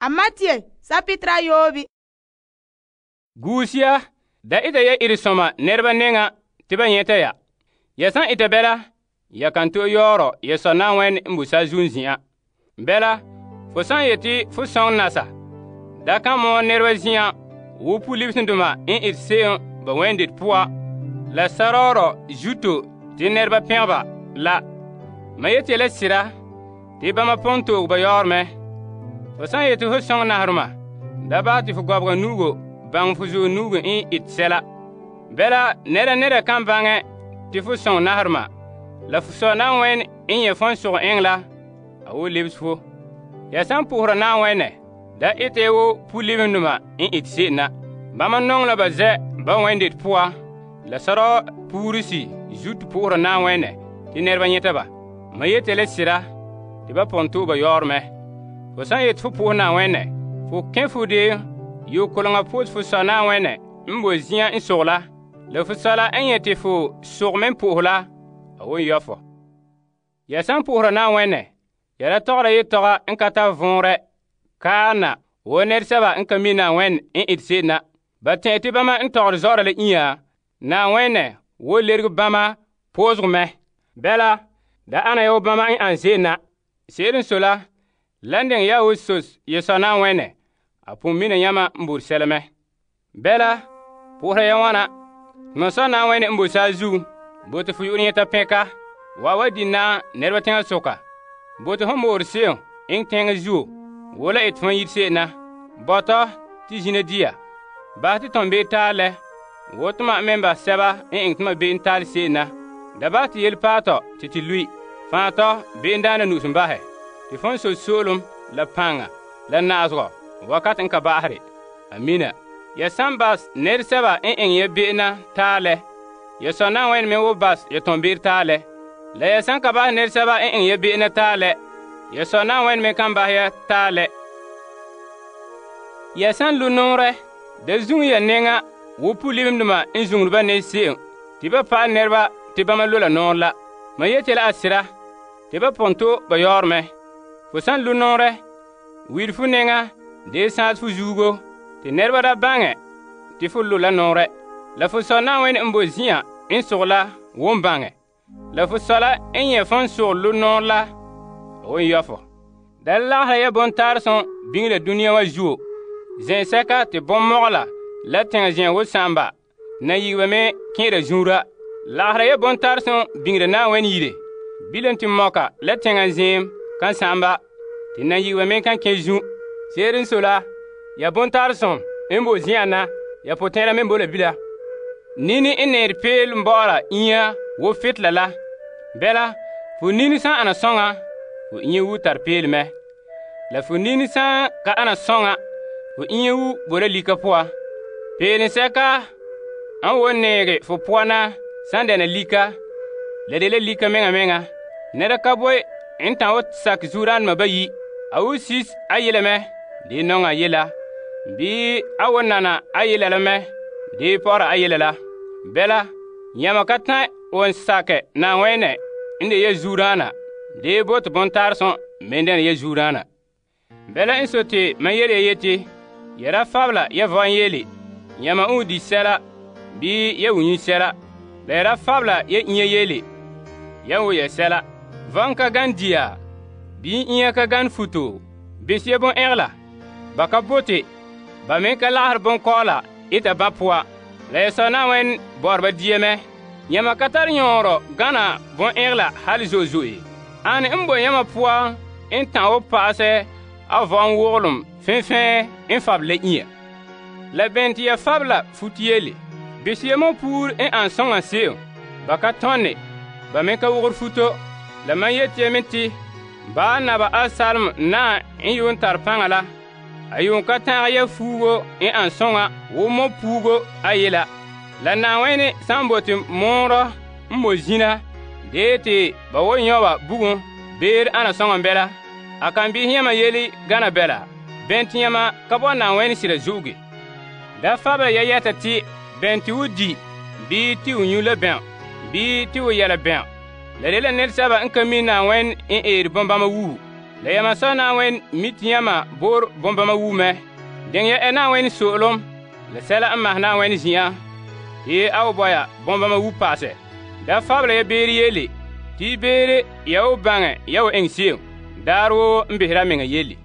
Amatye sapitra yoobi. Guusia, da ita ya iresoma nɛreba nɛŋa te ba nyɛta ya. Ya san ita bɛla, ya kan to yɔɔrɔ ya Sɔ Na'ayenɛ n boe saazuo zin'an. Bɛla, fo san yeti fo sɔŋɛ nasa, da kan mɔɔ nɛreba zin'an wo pu-libesendoma n ete se'em ba wɛnde poan la sarɔɔrɔ zuto te nɛreba pɛngɛ ba la. Ma yeti la sira te bama pon toog ba yɔɔrɔ mɛ. Fo san yeti fo sɔŋɛ naheroma, da bahɛ te fo gɔbega nu'ugo baŋɛ fo zuɔ nu'ugo n ete sɛla. Bɛla nɛra kan baŋɛ te fo sɔŋɛ naheroma, la fo Sɔ Na'ayenɛ n nyɛ' fon sogɛ eŋɛ la, a woo lebese fo. Ya san po'ohera Na'ayenɛ, da ete ya wo pu-libesendoma n ete se'em na. Bama nɔŋɛ la ba zɛ' ba wɛnde poan la sɔrɔɔ puuresi zuto po'ohera Na'ayenɛ te nɛreba nyɛta ba. Ma yeti la sira te ba pon to'e ba yɔɔrɔ mɛ. Fo san yeti fo po'ohɛ Na'ayenɛ, fo kɛn fo de yokoleŋa po'ohɛ fo Sɔ Na'ayenɛ n boe zin'an n sogɛ la fo Sɔ la n nyɛ te fo sogɛ me n po'ohɛ la, a won yɔ fo. Ya san po'ohera Na'ayenɛ, ya da tɔgɔra yetɔga n ka tare vɔnrɛ kaana wo nɛresɛba n ka mi Na'ayenɛ n ete se'em na. Ba tɛn'ɛhe te bama n tɔgɔre zɔ'ɔra la inya, Na'ayenɛ wo lerege bama po'ohegɔ mɛ. Bɛla, da ana ya wo bama n ane se'em na. Se'ere n sɔe la, lan diŋɛ ya wo sos ya Sɔ Na'ayenɛ, a pon mina yamam n bote sɛla mɛ. Bɛla, po'ohera ya wana. Mam Sɔ Na'ayenɛ n boe saazuo, bote fo yu'urɛ nyɛta pɛnka, wa di na nɛreba teŋa soka. Bote hon moore se'em eŋɛ teŋa zuo, wo la ete fon yire se'em na. Bɔtɔ te zina dia. Bahɛ te ton be'em taalɛ, wo toma me ba sɛba n eŋɛ toma be'em taalɛ se'em na. Da bahɛ te yele paɛ tɔ te te lui. Faantɔ be'em daana nu'usum bahɛ. Te fon so so'olem la paŋa la na'azegɔ wakati n ka ba'asere. Amina. Ya san bas nɛresɛba n eŋɛ ya be'em na taalɛ, ya Sɔ Na'ayenɛ me wo bas ya ton be'em taalɛ. La ya san ka bahɛ nɛresɛba n eŋɛ ya be'em na taalɛ, ya Sɔ Na'ayenɛ me kan bahɛ ya taalɛ. Ya san lo nɔɔrɛ, da zuŋɛ ya nɛŋa wo pu-libesendoma n zuŋere ba ne se'em te ba pa'alɛ nɛreba te bama lo la nɔɔrɛ la. Ma yeti la a sira te ba pon to ba yɔɔrɔ mɛ. Fo san lo nɔɔrɛ, wire fo nɛŋa dee sãase fo zuugo te nɛreba da baŋɛ te fo lo la nɔɔrɛ. La fo Sɔ Na'ayenɛ n boe zin'an n sogɛ la won baŋɛ. La fo Sɔ la n nyɛ' fon sogɛ lo nɔɔrɛ la, a won yɔ fo. Da lagahera ya bontaaresem biŋe la duniya wa zuo. Zɛnsɛka te bɔnmɔgɔla la teŋa zɛn wo sa'amba na yigiba me kɛn'ɛra zuura. Lagahera ya bontaaresem biŋera Na'ayenɛ yire. Bilam te mɔka la teŋa zɛɛm kan sa'amba te na yigiba me kan kɛ zu. Se'ere n sɔe la, ya bontaaresem n boe zin'an na, ya potɛn'ɛra me boe la bila. Nini n neere peelom bɔ'ɔra inya wo fetela la. Bɛla, fo nini san ana sɔŋa, fo inya wu tare peelom mɛ. La fo nini san ka ana sɔŋa, fo inya wu bo la lika poan. Peelensɛka an wo neege fo poan na san dɛna lika, la de la lika meŋa meŋa. Nɛra ka boe n ta'an wo sakɛ zuodaanema bayi. A wo sis a yela mɛ, dee nɔŋɛ a yela. Bii a wo nana a yela la mɛ, dee pɔgɔra a yela la. Bɛla, yãma ka ta'an won sakɛ Na'ayenɛ n de ya zuodaana, dee bote bontaaresem me dɛna ya zuodaana. Bɛla n sɔe te mam yele ya yeti, ya da fabela ya vɔn yeele, yãma n wo di sɛla bii ya wo nyu sɛla. La ya da fabela ya inya yeele, ya wo ya sɛla. Vɔn ka gan dia, bii inya ka gan futo. Bese ya bon-ɛgela. Ba ka bote, ba me ka lagahɛ bonkɔɔla eta ba poan. La ya Sɔ Na'ayenɛ bɔ'ɔra ba dia mɛ. Yãma ka tare yõorɔ gana bon-ɛgela hal zo'e zo'e. Ane n boe yãma poan n ta'an wo pa'asɛ a vɔn wogelem fẽfẽ n fabela la inya. La bɛn te ya fabela futo yele. Bese ya me puur n an sõŋa se'em. Ba ka tɔnne, ba me ka wogere futo. La man yeti ya me te, ba naba Asalem na n yuun tare paŋa la, a yuun ka tãag ya fuugo n an sõŋa wo mo puugo a yela. La Na'ayenɛ san bote moorɔ n bo zina, dee te ba wo nyɔ ba bugum beere ana sõŋa bɛla, a kan behɛ yãma yele gana bɛla. Bɛn te yãma ka bo Na'ayenɛ sira zu'uge. Da fabela ya yɛta te bɛn te wo di, bii te wo nyu la bɛn, bii te wo yɛla bɛn. La de la nɛresɛba n ka mi Na'ayenɛ n eere bõnbama wuhu. La yamam Sɔ Na'ayenɛ mi' te yamam bo'ore bonbama wuo mɛ. Diŋɛ ya ɛ Na'ayenɛ so'olom la sɛla n mahɛ Na'ayenɛ zin'an te a wan bɔya bonbama wuo pa'asɛ. Da fabela ya beere yele te beere ya wan baŋɛ ya wan eŋɛ se'em daarɛ woo n behera a mɛŋa yele.